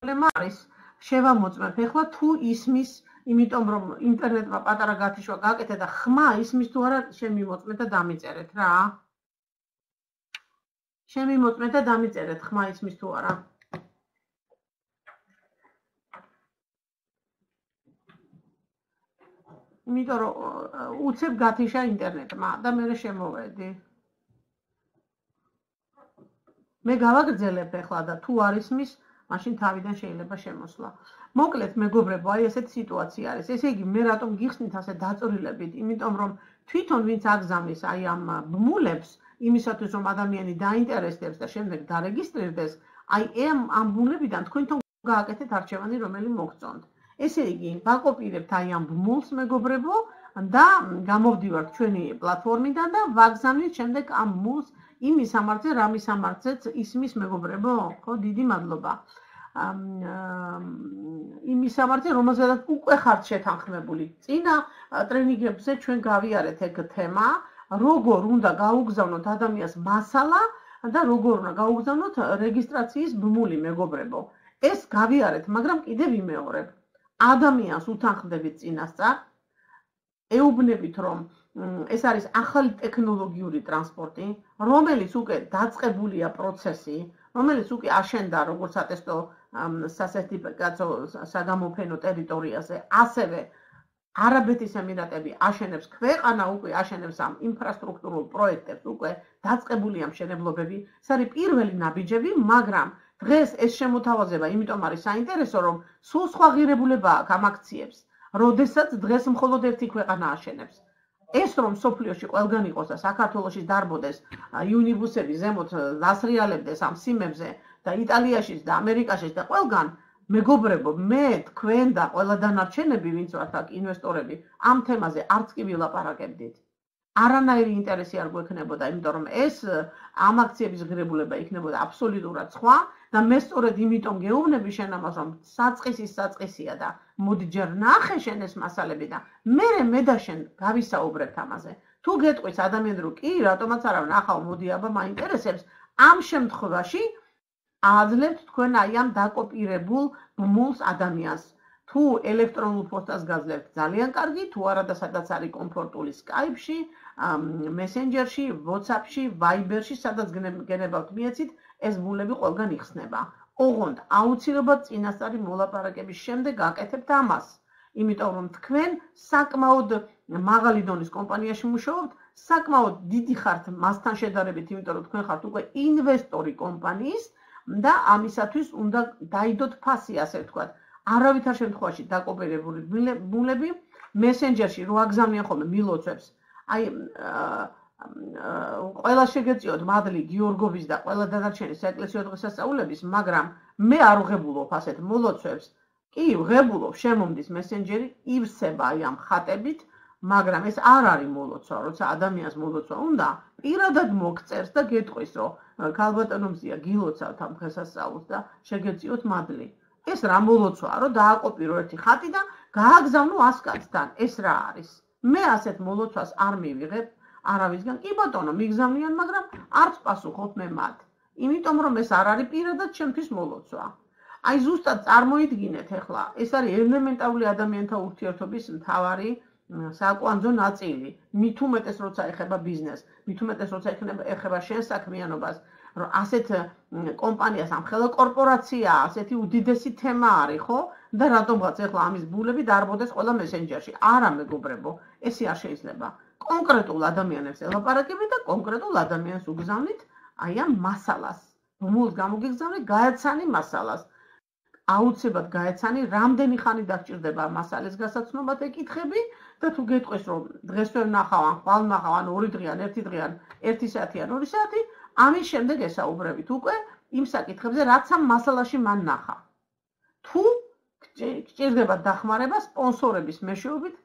Speaker 1: პრობლემა არის შევამოწმებ ეხლა თუ ისმის, იმიტომ რომ ინტერნეტმა პატარა გათიშვა გაკეთე და ხმა ისმის თუ არა, შემიმოწმეთ და დამიწერეთ რა. შემიმოწმეთ და დამიწერეთ ხმა ისმის თუ არა. იმიტომ რომ უცებ გათიშა ინტერნეტმა და მე შემოვედი. მე გავაგრძელებ ეხლა და თუ არ ისმის, მაშინ თავიდან შეიძლება შემოსვლა. მოკლედ მეგობრებო, აი ესეთი სიტუაცია არის. ესე იგი, მე რატომ გიხსნით ასე დაწვრილებით? იმიტომ რომ თვითონ ვინც აგზავნის აი ამ ბმულებს, იმისათვის რომ ადამიანი დაინტერესდებს და შემდეგ დარეგისტრირდეს, აი ამ ბმულებიდან თქვენ თვითონ გააკეთეთ არჩევანი, რომელი მოგწონთ. ესე იგი, ვაკოპირებთ აი ამ ბმულს მეგობრებო და გამოვდივართ ჩვენი პლატფორმიდან და ვაგზავნით შემდეგ ამ ბმულს იმ მისამართზე, რა მისამართზეც ისმის მეგობრებო, ხო, დიდი მადლობა. იმ მისამართზე, რომელზედაც უკვე ხართ შეთანხმებული. წინა ტრენინგებზე ჩვენ გავიარეთ ეგ თემა, როგორ უნდა გაუგზავნოთ ადამიანს მასალა და როგორ უნდა გაუგზავნოთ რეგისტრაციის ბმული მეგობრებო. ეს გავიარეთ, მაგრამ კიდე ვიმეორებ. ადამიანს უთანხმდებით წინასწარ, ეუბნებით რომ ეს არის ახალი ტექნოლოგიური ტრანსპორტი, რომელიც უკვე დაწყებულია პროცესი, რომელიც უკვე აშენდა როგორც ატესტო სასერტიფიკატო საგამოფენო ტერიტორიაზე, ასევე არაბეთის ემირატები აშენებს, ქვეყანა უკვე აშენებს ამ ინფრასტრუქტურულ პროექტებს, უკვე დაწყებულია მშენებლობები, ეს არის პირველი ნაბიჯები, მაგრამ დღეს ეს შემოთავაზება, იმიტომ არის საინტერესო, რომ სულ სხვა ღირებულება აქვს ამ აქციებს, როდესაც დღეს მხოლოდ ერთი ქვეყანა აშენებს. ეს რომ სოფლიოში ყველგან იყოს და საქართველოში დარბოდეს იუნიბუსები ზემოთ დასრიალებდეს ამ სიმებზე და იტალიაშიც და ამერიკაშიც და ყველგან მეგობრებო მე თქვენ და ყველა დანარჩენები ვინც ვართ აქ ინვესტორები ამ თემაზე არც კი ვილაპარაკებდით. არანაირი ინტერესი არ გვექნებოდა, იმიტომ რომ ეს ამ აქციების ღირებულება იქნებოდა აბსოლუტურად სხვა და მე სწორედ იმიტომ გეუბნები შენ ამას რომ საწყისია და მოდი ჯერ ნახე შენ ეს მასალები და მე და შენ გავისაუბრებთ ამაზე. თუ გეტყვის ადამიანი რომ კი რატომაც არა ნახავ მოდი აბა მაინტერესებს, ამ შემთხვევაში აძლევთ თქვენ აი ამ დაკოპირებულ ბმულს ადამიანს. თუ ელექტრონულ პოსტას გაძლევთ ძალიან კარგი, თუ არა და სადაც არის კომფორტული Skype-ში, Messenger-ში, WhatsApp-ში, Viber-ში, სადაც გენებავთ მიეცით, ეს ბმულები ყველგან იხსნება. ოღონდ აუცილებლად წინასწარი მოლაპარაკების შემდეგ გაკეთებთ ამას. იმიტომ რომ თქვენ საკმაოდ მაღალი დონის კომპანიაში მუშაობთ, საკმაოდ დიდი ხართ მასთან შედარებით, იმიტომ რომ თქვენ ხართ უკვე ინვესტორი კომპანიის და ამისათვის უნდა დაიდოთ ფასი, ასე ვთქვათ. არავითარ შემთხვევაში დაკოპირებული ბმულები Messenger-ში რო აგზავნიან ხოლმე მილოცვებს. აი ყველა შეგეწიოთ მადლი გიორგოვის და ყველა დანარჩენი საეკლესიო დღესასწაულების, მაგრამ მე არ ვღებულობ ასეთ მოლოცვებს. კი, ვღებულობ, შემომდის Messenger-ი, ივსება აი ამ ხატებით, მაგრამ ეს არ არის მოლოცვა, როცა ადამიანს მოლოცვა უნდა, პირადად მოგწერს და გეტყვის, რომ ქალბატონო მზია გილოცავთ ამ დღესასწაულს და შეგეწიოთ მადლი. ეს რა მოლოცვაა, რომ დააკოპირო ერთი ხატი და გააგზავნო 100 კაცთან. ეს რა არის? მე ასეთ მოლოცვას არ მივიღებ არავისგან. კი ბატონო, მიგზავნიან, მაგრამ არც პასუხობ მე მათ. იმიტომ რომ ეს არ არის პირადად ჩემთვის მოლოცვა. აი ზუსტად წარმოიდგინეთ ახლა, ეს არის ელემენტარული ადამიანთა ურთიერთობის მთავარი საკვანძო ნაწილი. მით უმეტეს როცა ეხება ბიზნესს, მით უმეტეს როცა ეხება შენ საქმიანობას, რომ ასეთ კომპანიას ამხელა კორპორაცია, ასეთი უდიდესი თემა არის, ხო? და რატომღაც ახლა ამის ბმულები დარბოდეს ყველა Messenger-ში. არა მეგობრებო, ესე არ შეიძლება. კონკრეტულ ადამიანებს ელაპარაკებით და კონკრეტულ ადამიანს უგზავნით აი ამ მასალას. ბმულს გამოგიგზავნით, გაეცანი მასალას. აუცილებლად გაეცანი, რამდენი ხანი დაგჭირდება მასალის გასაცნობად ეკითხები და თუ გეტყვის რომ დღესვე ვნახავ, ან ხვალ ვნახავ, ან 2 დღე, ან 1 დღე, ან 1 საათი, ან 2 საათი, ამის შემდეგ ესაუბრებით უკვე იმ საკითხებზე, რაც ამ მასალაში მან ნახა. თუ გჭირდებათ დახმარება, სპონსორების მეშვეობით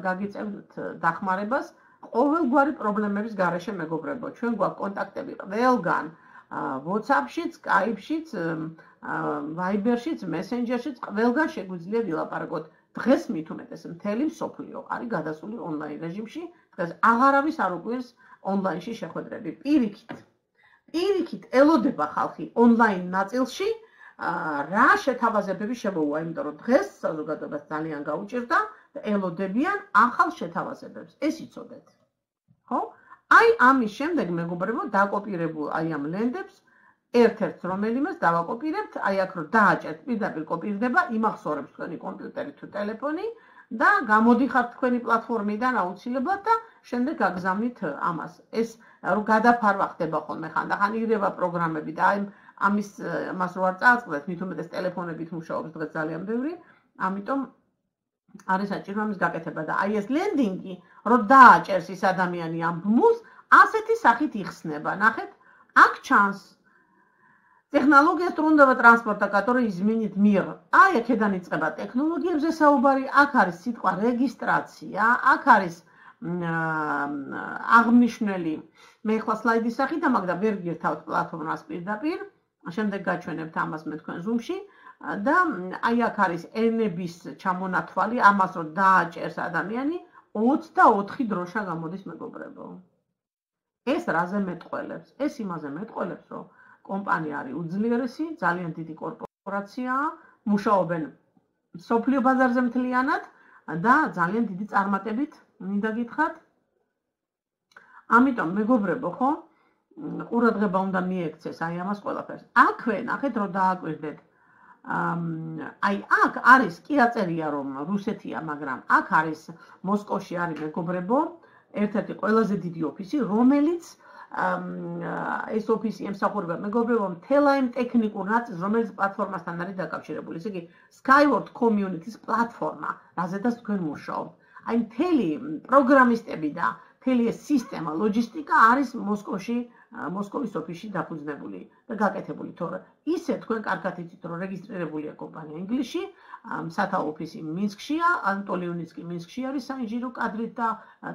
Speaker 1: გაგიწევთ დახმარებას ყოველგვარი პრობლემების გარეშე მეგობრებო. ჩვენ გვაქვს კონტაქტები ყველგან, WhatsApp-შიც, Skype-შიც, Viber-შიც, Messenger-შიც, ყველგან შეგვიძლია ვილაპარაკოთ. დღეს მით უმეტეს მთელი მსოფლიო არის გადასული ონლაინ რეჟიმში. დღეს აღარავის არ უყვირს ონლაინში შეხვედრები. პირიქით ელოდება ხალხი ონლაინ ნაწილში რა შეთავაზებები შემოუვა, იმიტომ რომ დღეს საზოგადოებას ძალიან გაუჭირდა და ელოდებიან ახალ შეთავაზებებს. ეს იცოდეთ. ხო? აი ამის შემდეგ მეგობრებო დაკოპირებულ აი ამ ლენდებს ერთ-ერთს რომელიმეს დავაკოპირებთ, აი აქ რომ დააჭერთ, პირდაპირ კოპირდება, იმახსოვრებს თქვენი კომპიუტერი თუ ტელეფონი და გამოდიხართ თქვენი პლატფორმიდან აუცილებლად და შემდეგ გაგზავნით ამას. ეს რომ გადაფარვა ხდება ხოლმე ხანდახან ირევა პროგრამები და აი ამას რო არ წააწყდეთ, მით უმეტეს ტელეფონებით მუშაობს დღეს ძალიან ბევრი, ამიტომ არის საჭირო ამის გაკეთება და აი ეს ლენდინგი რო დააჭერს ის ადამიანი ამ ბმულს, ასეთი სახით იხსნება. ნახეთ, აქ ჩანს технология струнного транспорта, который изменит мир. აი აქედან იწყება ტექნოლოგიებზე საუბარი, აქ არის სიტყვა რეგისტრაცია, აქ არის აღნიშნული მე ხლა სლაიდის სახით ამაგდა ვერ გირთავთ პლატფორმას პირდაპირ, შემდეგ გაჩვენებთ ამას მე თქვენ Zoom-ში და აი აქ არის ენების ჩამონათვალი, ამას რომ დააჭერს ადამიანი 24 დროშა გამოდის მეგობრებო. ეს რაზე მეტყველებს? ეს იმაზე მეტყველებს, რომ კომპანია არის უძლიერესი, ძალიან დიდი კორპორაციაა, მუშაობენ სოფლიო ბაზარზე მთლიანად და ძალიან დიდი წარმატებით მინდა გითხრათ. ამიტომ მეგობრებო, ხო? ყურადღება უნდა მიექცეს აი ამას ყველაფერს. აქვე ნახეთ რომ დააკვირდეთ. აი აქ არის კი აწერია რომ რუსეთია, მაგრამ აქ არის მოსკოვში არის მეგობრებო, ერთ-ერთი ყველაზე დიდი ოფისი, რომელიც ეს ოფისი ემსახურება მეგობრებო მთელ იმ ტექნიკურ ნაწილს, რომელიც პლატფორმასთან არის დაკავშირებული. ესე იგი Skyward Community-ს პლატფორმა, რაზედაც თქვენ მუშაობთ. აი მთელი პროგრამისტები და მთელი ეს სისტემა, ლოჯისტიკა არის მოსკოვის ოფისში დაფუძნებული და გაკეთებული, თორე ისე თქვენ კარგად იცით, რომ რეგისტრირებულია კომპანია ინგლისში, სათაო ოფისი მინსკშია, ანტოლიუნიც კი მინსკში არის საინჟინრო კადრით და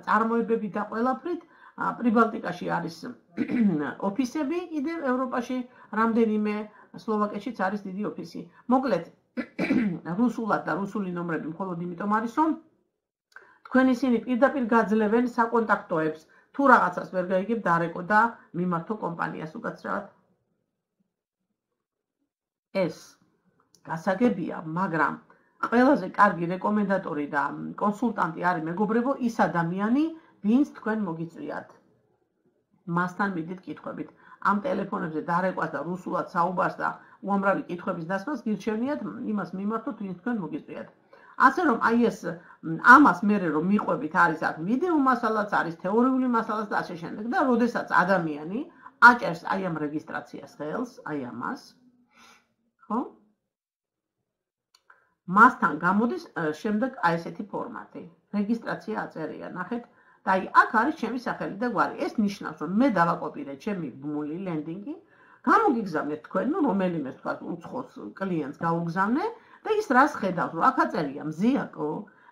Speaker 1: წარმოებებით და ყველაფრით. პრიბალტიკაში არის ოფისები, კიდევ ევროპაში რამდენიმე, სლოვაკეთშიც არის დიდი ოფისი. მოკლედ, რუსულად და რუსული ნომრები მხოლოდ იმიტომ არის, რომ თქვენ ისინი პირდაპირ გაძლევენ საკონტაქტოებს, თუ რაღაცას ვერ გაიგებ დარეკო და მიმართო კომპანიას უკაცრავად. ეს გასაგებია, მაგრამ ყველაზე კარგი რეკომენდატორი და კონსულტანტი არის მეგობრებო ის ადამიანი, ვინც თქვენ მოგიწვიათ. მასთან მიდით კითხვებით. ამ ტელეფონებზე დარეკვას და რუსულად საუბარს და უამრავი კითხვების დასმას გირჩევნიათ იმას მიმართოთ, ვინც თქვენ მოგიწვიათ. ასე რომ აი ეს ამას მერე რომ მიყვებით არის აქ ვიდეო მასალაც, არის თეორიული მასალაც და ასე შემდეგ და როდესაც ადამიანი აჭერს აი ამ რეგისტრაციას ხელს, აი ამას, ხო? მასთან გამოდის შემდეგ აი ესეთი ფორმატი. რეგისტრაცია აწერია, ნახეთ. და აი აქ არის ჩემი სახელი და გვარი. ეს ნიშნავს, რომ მე დავაკოპირე ჩემი ბმული ლენდინგი, გამოგიგზავნეთ თქვენ, ნუ რომელიმე თქვა უცხოს კლიენტს გაუგზავნე და ის რას ხედავს, რომ აქ აწერია მზიაკო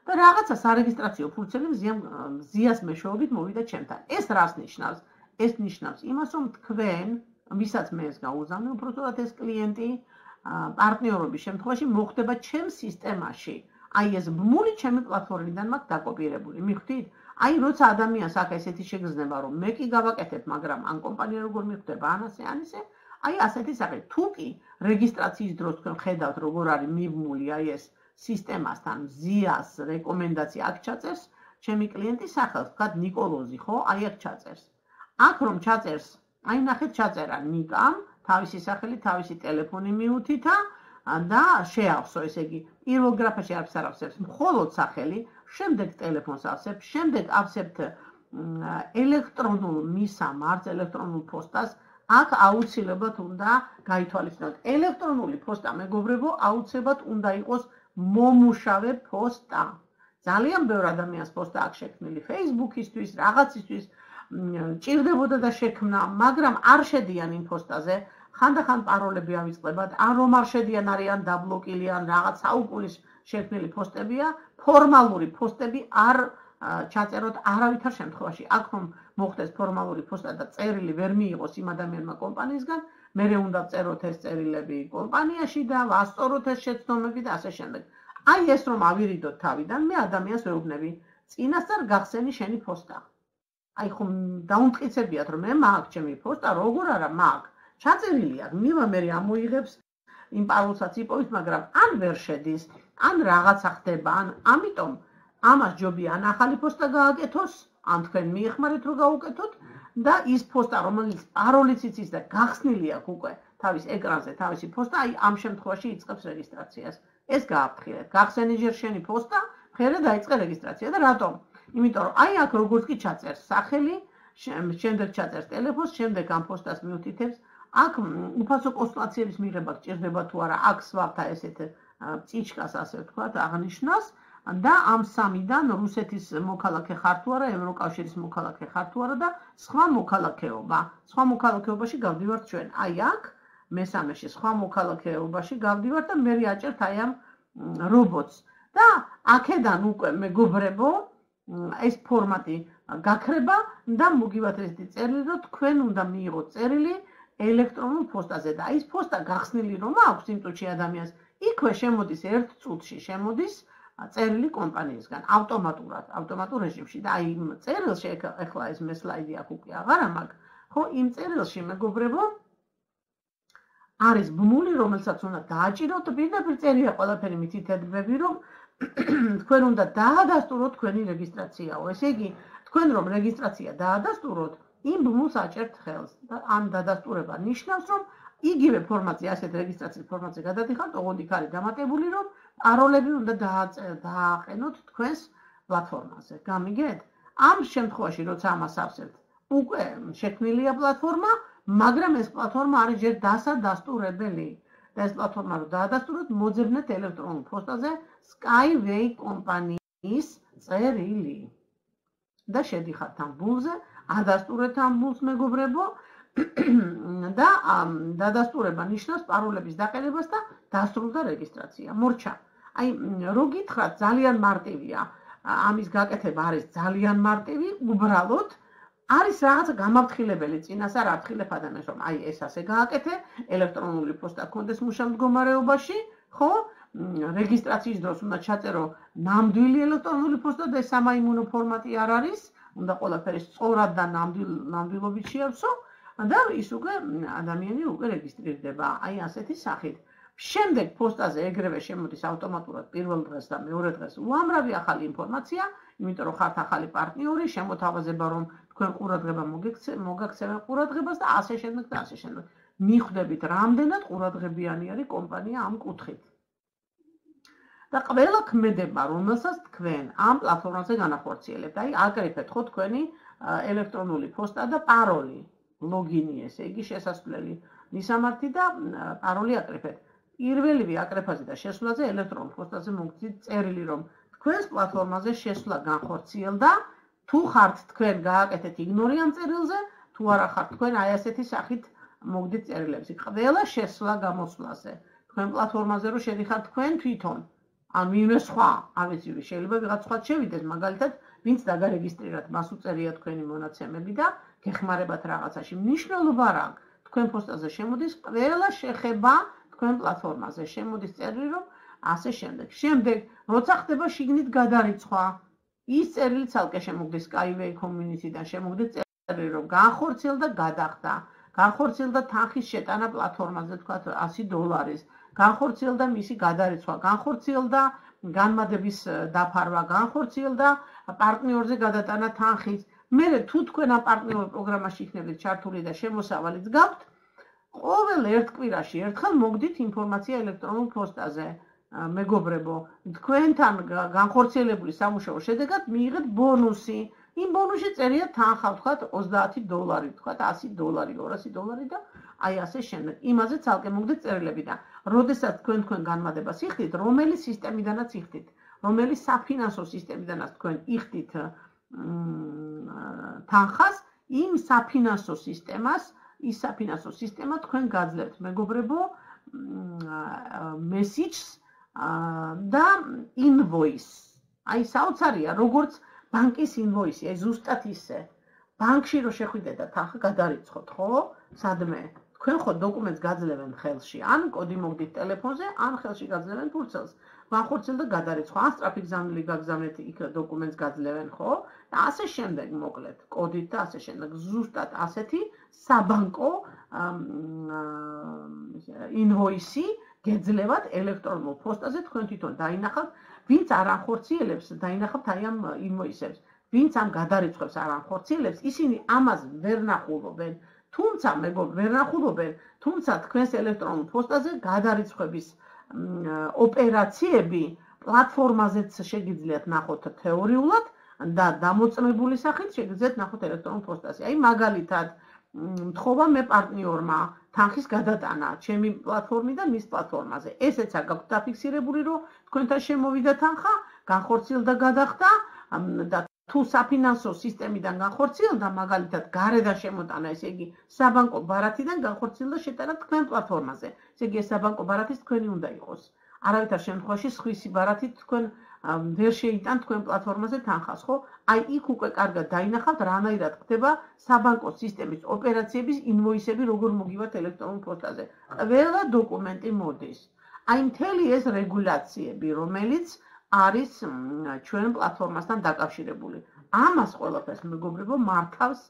Speaker 1: და რაღაცა სარეგისტრაციო ფუნქციები მზიას მეშვეობით მოვიდა ჩემთან. ეს რას ნიშნავს? ეს ნიშნავს იმას, რომ თქვენ, ვისაც მე ეს გაუგზავნე, უпростоად ეს კლიენტი პარტნიორობის შემთხვევაში მოხდება ჩემ სისტემაში. აი ეს ბმული ჩემი პლატფორმიდან მაქვს დაკოპირებული. მიხვდით? აი როცა ადამიანს აქ ესეთი შეგრძნება რომ მე კი გავაკეთებ, მაგრამ ან კომპანია როგორ მიხვდება, ან ასე, აი ასეთი სახე. თუ კი რეგისტრაციის დროს თქვენ ხედავთ როგორ არის მიბმული აი ეს სისტემასთან ზიას რეკომენდაცია აქ ჩაწერს, ჩემი კლიენტის სახელს, ვთქვათ ნიკოლოზი, ხო? აი აქ ჩაწერს. აქ რომ ჩაწერს, აი ნახეთ ჩაწერა ნიკამ, თავისი სახელი, თავისი ტელეფონი მიუთითა და შეავსო, ესე იგი, პირველ გრაფაში არც არ ავსებს, მხოლოდ სახელი, შემდეგ ტელეფონს ავსებ, შემდეგ ავსებთ ელექტრონულ მისამართს, ელექტრონულ პოსტას, აქ აუცილებლად უნდა გაითვალისწინოთ. ელექტრონული პოსტა, მეგობრებო, აუცილებლად უნდა იყოს მომუშავე პოსტა. ძალიან ბევრ ადამიანს პოსტა აქვს შექმნილი Facebook-ისთვის, რაღაცისთვის, ჭირდებოდა და შექმნა, მაგრამ არ შედიან იმ პოსტაზე. ხანდახან პაროლები ავიწყდებათ, ან რომ არ შედიან არიან დაბლოკილი, ან რაღაც საუკუნის შექმნილი პოსტებია, ფორმალური პოსტები არ ჩაწეროთ არავითარ შემთხვევაში. აქ რომ მოხდეს ფორმალური პოსტა და წერილი ვერ მიიღოს იმ ადამიანმა კომპანიისგან, მერე უნდა წეროთ ეს წერილები კომპანიაში და ვასწოროთ ეს შეცდომები და ასე შემდეგ. აი ეს რომ ავირიდოთ თავიდან, მე ადამიანს ვეუბნები, წინასწარ გახსენი შენი პოსტა. აი ხომ დაუმტკიცებიათ რომ მე მაქვს ჩემი პოსტა, როგორ არა მაქვს. ჩაწერილი აქვს, მივა მე ამოიღებს იმ პარულსაც იპოვით, მაგრამ ან ვერ შედის, ან რაღაცა ხდება, ან ამიტომ ამას ჯობია ან ახალი პოსტა გააკეთოს, ან თქვენ მიეხმარეთ რომ გაუკეთოთ და ის პოსტა, რომელიც პაროლიც იცის და გახსნილი აქვს უკვე თავის ეკრანზე, თავისი პოსტა, აი ამ შემთხვევაში იწყებს რეგისტრაციას. ეს გააფრთხილეთ. გახსენი ჯერ შენი პოსტა, მერე დაიწყე რეგისტრაცია და რატომ? იმიტომ რომ აი აქ როგორც კი ჩაწერს სახელი, შემდეგ ჩაწერს ტელეფონს, შემდეგ ამ პოსტას მიუთითებს, აქ უფასო კონსულტაციების მიღება გჭირდება თუ არა, აქ სვავთა ესეთ წიჩკას ასე ვთქვათ, აღნიშნავს და ამ სამიდან რუსეთის მოქალაქე ხარ თუ არა, ევროკავშირის მოქალაქე ხარ თუ არა და სხვა მოქალაქეობა. სხვა მოქალაქეობაში გავდივართ ჩვენ. აი აქ მესამეში სხვა მოქალაქეობაში გავდივართ და მე აჭერთ აი ამ რობოტს. და აქედან უკვე მეგობრებო, ეს ფორმატი გაქრება და მოგივათ ესეთი წერილი, რომ თქვენ უნდა მიიღოთ წერილი ელექტრონულ პოსტაზე და ის პოსტა გახსნილი რომ აქვს იმ წუთში ადამიანს, იქვე შემოდის ერთ წუთში შემოდის წერილი კომპანიისგან ავტომატურ რეჟიმში და აი იმ წერილში ეხლა ეს მე სლაიდი აქ უკვე აღარა მაქვს, ხო, იმ წერილში მეგობრებო არის ბმული, რომელსაც უნდა დააჭიროთ, პირდაპირ წერია ყველაფერი მითითებები, რომ თქვენ უნდა დაადასტუროთ თქვენი რეგისტრაციაო. ესე იგი, თქვენ რომ რეგისტრაცია დაადასტუროთ, იმ ბმულს აჭერთ ხელს და ამ დადასტურება ნიშნავს, რომ იგივე ფორმატზე, ასეთ რეგისტრაციის ფორმატზე გადადიხართ, ოღონდ იქ არის დამატებული, რომ პაროლები უნდა დააყენოთ თქვენს პლატფორმაზე. გამიგეთ? ამ შემთხვევაში, როცა ამას ავსებთ, უკვე შექმნილია პლატფორმა, მაგრამ ეს პლატფორმა არის ჯერ დასადასტურებელი. და ეს პლატფორმა რომ დაადასტუროთ, მოძებნეთ ელექტრონულ პოსტაზე Skyway კომპანიის წერილი. და შედიხართ ამ ბულზე, ადასტურეთ ამ ბულს მეგობრებო და დადასტურება ნიშნავს პაროლების დაყენებას და დასრულდა რეგისტრაცია. მორჩა. აი, რო გითხრათ, ძალიან მარტივია. ამის გაკეთება არის ძალიან მარტივი, უბრალოდ არის რაღაცა გამაფრთხილებელი წინას არ აფრთხილებ ადამიანს, რომ აი ეს ასე გააკეთე, ელექტრონული პოსტა გქონდეს მუშა მდგომარეობაში, ხო? რეგისტრაციის დროს უნდა ჩაწერო ნამდვილი ელექტრონული პოსტა და სამაიმუნო ფორმატი არ არის, უნდა ყველაფერი სწორად და ნამდვილობით შეავსო და ის უკვე ადამიანი უკვე რეგისტრირდება, აი ასეთი სახით. შემდეგ პოსტაზე ეგრევე შემოდის ავტომატურად პირველ დღეს და მეორე დღეს უამრავი ახალი ინფორმაცია, იმიტომ რომ ხართ ახალი პარტნიორი, შემოთავაზება რომ თქვენ ყურადღება მოგაქცევენ ყურადღებას და ასე შემდეგ და ასე შემდეგ. მიხვდებით, რამდენად ყურადღებიანი არის კომპანია ამ კუთხით. და ყველა ქმედება, რომელსაც თქვენ ამ პლატფორმაზე განახორციელებთ, აი აკრიფეთ ხო თქვენი ელექტრონული პოსტა და პაროლი, ლოგინი, ესე იგი შესასვლელი, მისამართი და პაროლი აკრიფეთ. პირველივე აკრეფაზე და შესვლაზე ელექტრონულ პოსტაზე მოგცით წერილი, რომ თქვენს პლატფორმაზე შესვლა განხორციელდა, თუ ხართ თქვენ გააკეთეთ იგნორი ამ წერილზე, თუ არა ხართ თქვენ აი ასეთი სახით მოგდით წერილებს. ყველა შესვლა გამოსვლაზე, თქვენ პლატფორმაზე რო შედიხართ თქვენ თვითონ, ან ვინმე სხვა, არ ვიცი, შეიძლება ვიღაც სხვა შევიდეს, მაგალითად, ვინც დაგარეგისტრირათ, მას უწერია თქვენი მონაცემები და გეხმარებათ რაღაცაში. მნიშვნელობა რა აქვს? თქვენ პოსტაზე შემოდის ყველა შეხება თქვენ პლატფორმაზე, შემოდის წერილი, რომ ასე შემდეგ. შემდეგ, როცა ხდება შიგნით გადარიცხვა, ის წერილი ცალკე შემოგდის Skyway community-დან, შემოგდის წერილი, რომ განხორციელდა გადახდა, განხორციელდა თანხის შეტანა პლატფორმაზე, თქვათ $100, განხორციელდა მისი გადარიცხვა, განხორციელდა განმადების დაფარვა, განხორციელდა პარტნიორზე გადატანა თანხის. მერე თუ თქვენ ამ პარტნიორ პროგრამაში იქნებით ჩართული და შემოსავალიც გაქვთ, ყოველ ერთ კვირაში ერთხელ მოგდით ინფორმაცია ელექტრონულ პოსტაზე. მეგობრებო, თქვენთან განხორციელებული სამუშაოს შედეგად მიიღეთ ბონუსი. იმ ბონუსში წერია თანხა, ვთქვათ, $30, ვთქვათ, $100, $200 და აი ასე შემდეგ. იმაზე ცალკე მოგდით წერილები და როდესაც თქვენ განმადებას იხდით, რომელი სისტემიდანაც იხდით, რომელი საფინანსო სისტემიდანაც თქვენ იხდით თანხას, იმ საფინანსო სისტემა თქვენ გაძლევთ, მეგობრებო, message და invoice. აი საოცარია, როგორც ბანკის invoice, აი ზუსტად ისე. ბანკში რო შეხვიდეთ და თანხა გადარიცხოთ, ხო? სადმე თქვენ ხო დოკუმენტს გაძლევენ ხელში, ან კოდი მოგდით ტელეფონზე, ან ხელში გაძლევენ ფურცელს. განხორციელდა გადარიცხვა, ან სწრაფი გზავნილი გაგზავნეთ იქ დოკუმენტს გაძლევენ, ხო? და ასე შემდეგ მოკლედ, კოდით და ასე შემდეგ. ზუსტად ასეთი საბანკო invoice გეძლევათ ელექტრონულ პოსტაზე თქვენ თვითონ დაინახავთ, ვინც არ ანხორციელებს, დაინახავთ აი ამ ინვოისებს. ვინც ამ გადარიცხვებს არ ანხორციელებს, ისინი ამას ვერ ნახულობენ. თუმცა მეგობრებო, ვერ ნახულობენ, თუმცა თქვენს ელექტრონულ პოსტაზე გადარიცხვების ოპერაციები პლატფორმაზეც შეგიძლიათ ნახოთ თეორიულად და დამოწმებული სახით შეგიძლიათ ნახოთ ელექტრონულ პოსტაზე. აი მაგალითად, მთხოვა მე პარტნიორმა თანხის გადატანა ჩემი პლატფორმიდან მის პლატფორმაზე. ესეც არ გაქვთ დაფიქსირებული, რომ თქვენთან შემოვიდა თანხა, განხორციელდა გადახდა და თუ საფინანსო სისტემიდან განხორციელდა, მაგალითად, გარედან შემოტანა, ესე იგი, საბანკო ბარათიდან განხორციელდა შეტანა თქვენ პლატფორმაზე. ესე იგი, ეს საბანკო ბარათის თქვენი უნდა იყოს. არავითარ შემთხვევაში სხვისი ბარათით თქვენ ვერ შეიტანთ თქვენ პლატფორმაზე თანხას, ხო? აი იქ უკვე კარგად დაინახავთ, რანაირად ხდება საბანკო სისტემის ოპერაციების ინვოისები, როგორ მოგივათ ელექტრონულ პოსტაზე. ყველა დოკუმენტი მოდის. აი მთელი ეს რეგულაციები, რომელიც არის ჩვენ პლატფორმასთან დაკავშირებული. ამას ყველაფერს მეგობრებო მართავს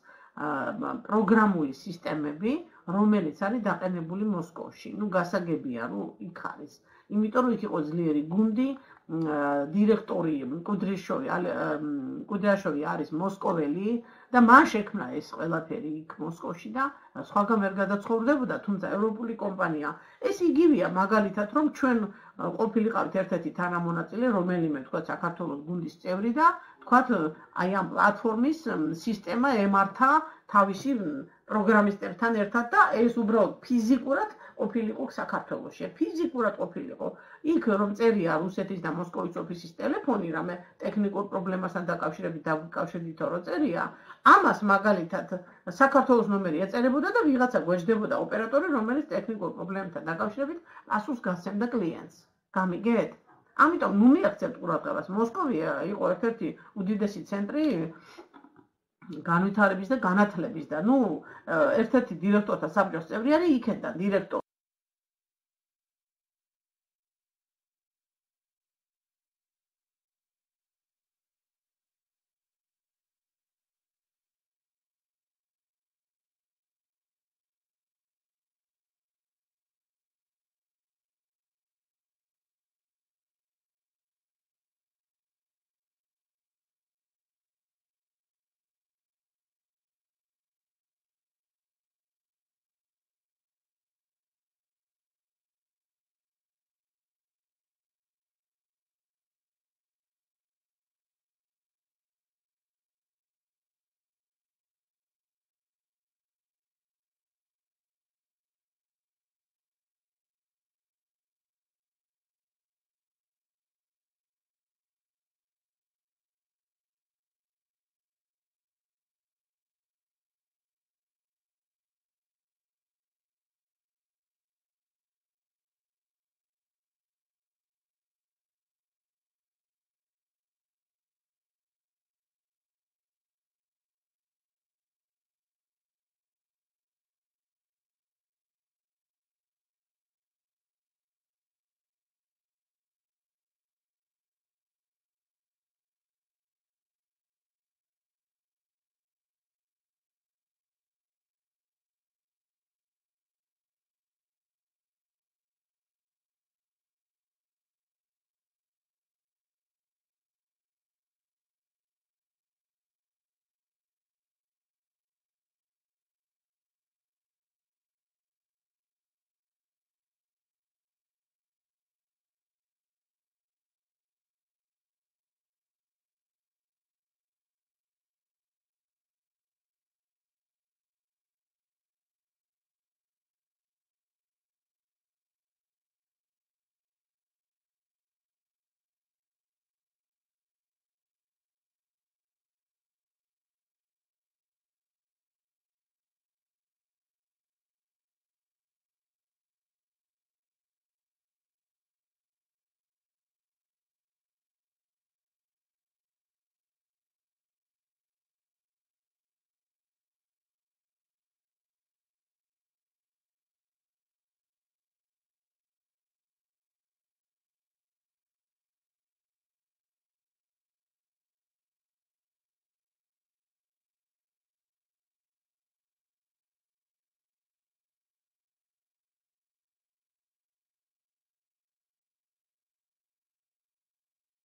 Speaker 1: პროგრამული სისტემები, რომელიც არის დაყენებული მოსკოვში. ნუ გასაგებია, რომ იქ არის. იმიტომ რომ იქ იყო ძლიერი გუნდი, დირექტორი კუდრიაშოვი არის მოსკოველი და მან შექმნა ეს ყველაფერი იქ მოსკოვში და სხვაგან ვერ გადაცხოვრდებოდა, თუმცა ევროპული კომპანია. ეს იგივეა მაგალითად, რომ ჩვენ ყოფილიყავით ერთ-ერთი თანამონაწილე, რომელიმე თქვა საქართველოს გუნდის წევრი და თქვა აი ამ პლატფორმის სისტემა ემართა თავისი პროგრამისტებთან ერთად და ეს უბრალოდ ფიზიკურად ყოფილიყო საქართველოში. ფიზიკურად ყოფილიყო. იქ რომ წერია რუსეთის და მოსკოვის ოფისის ტელეფონი, რამე ტექნიკურ პრობლემასთან დაკავშირებით დავიკავშირდითო რომ წერია, ამას მაგალითად საქართველოს ნომერი ეწერებოდა და ვიღაცა გვეჯდებოდა ოპერატორი, რომელიც ტექნიკურ პრობლემებთან დაკავშირებით პასუხს გასცემდა კლიენტს. გამიგეთ? ამიტომ ნუ მიაქცევთ ყურადღებას. მოსკოვი იყო ერთ-ერთი უდიდესი ცენტრი განვითარების და განათლების და ნუ ერთ-ერთი დირექტორთა საბჭოს წევრი არის იქედან დირექტორი.